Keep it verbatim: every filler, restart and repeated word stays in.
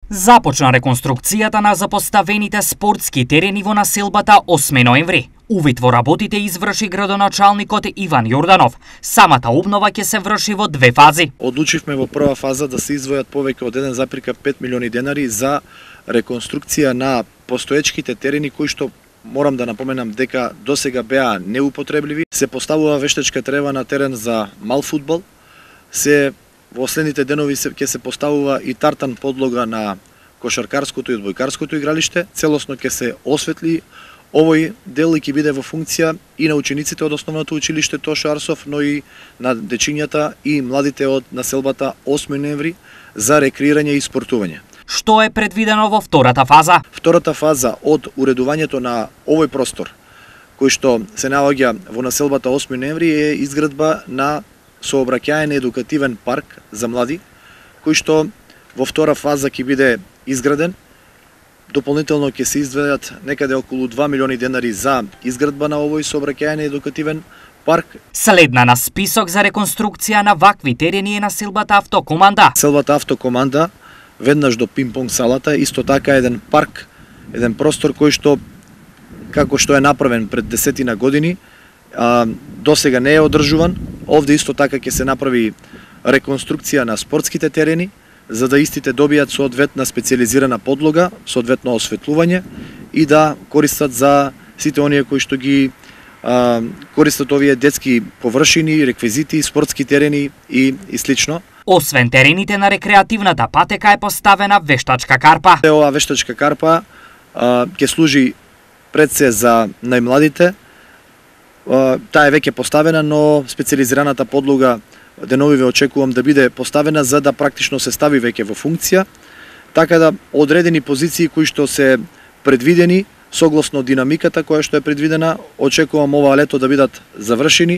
Започна реконструкцијата на запоставените спортски терени во населбата осми ноември. Увид во работите изврши градоначалникот Иван Јорданов. Самата обнова ќе се врши во две фази. Одлучивме во прва фаза да се издвојат повеќе од еден запирка пет милиони денари за реконструкција на постоечките терени кои што морам да напоменам дека досега беа неупотребливи. Се поставува вештачка трева на терен за мал фудбал. Се Во следните денови се, ќе се поставува и тартан подлога на кошаркарското и одбојкарското игралиште. Целосно ќе се осветли овој дел и ќе биде во функција и на учениците од основното училиште Тошо Арсов, но и на дечињата и младите од населбата осми ноември за рекреирање и спортување. Што е предвидено во втората фаза? Втората фаза од уредувањето на овој простор, кој што се наоѓа во населбата осми ноември, е изградба на сообраќаен едукативен парк за млади, кој што во втора фаза ќе биде изграден. Дополнително ќе се издвојат некаде околу два милиони денари за изградба на овој сообраќаен едукативен парк. Следна на список за реконструкција на вакви терени е населбата Автокоманда. Населбата Автокоманда, веднаш до пинг-понг салата, исто така еден парк, еден простор кој што, како што е направен пред десетина години, а, досега не е одржуван. Овде исто така ќе се направи реконструкција на спортските терени, за да истите добијат соодветна специјализирана подлога, соодветно осветлување и да користат за сите оние кои што ги а, користат овие детски површини, реквизити, спортски терени и, и слично. Освен терените на рекреативната патека е поставена вештачка карпа. Оваа вештачка карпа а, ќе служи пред се за најмладите. Таа е веќе поставена, но специјализираната подлога деновиве очекувам да биде поставена за да практично се стави веќе во функција, така да одредени позиции кои што се предвидени согласно динамиката која што е предвидена, очекувам ова лето да бидат завршени